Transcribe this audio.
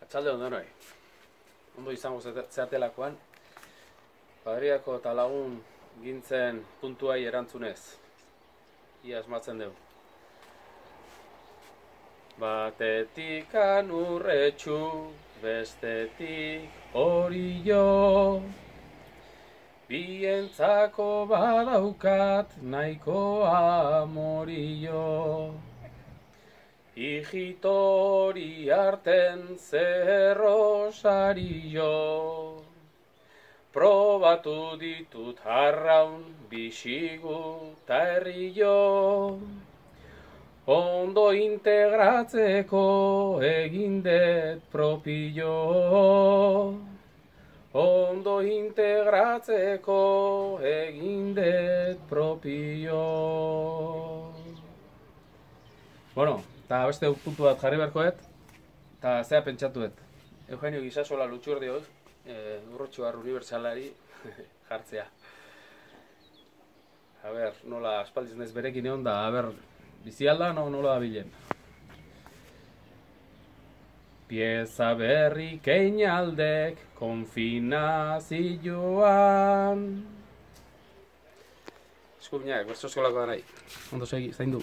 Arratsalde on denoi. Ondo izango zeatelakoan, Padriako eta lagun gintzen puntuai erantzunez. Ia asmatzen dugu. Batetik anurretxu, bestetik orio. Bientzako badaukat nahiko amorio. Hijitori arten zerrosario. Probatu ditut arraun, bixigu ta herrio. Ondo integratzeko egin dut propio. Ondo integratzeko egin dut propio. Bueno, eta beste puntu bat jarri beharkoet, eta zea pentsatuet. Eugenio Gisasola Lutxurdioz, urrotxoar unibertsalari jartzea. A ber, nola aspaldiz naiz berekin egon da, a ber, bizialda nola da bilen. Pieza berri keinaldek konfinazioan. Eskubinak, bertso eskolako da nahi. Ondo segi, zaindu.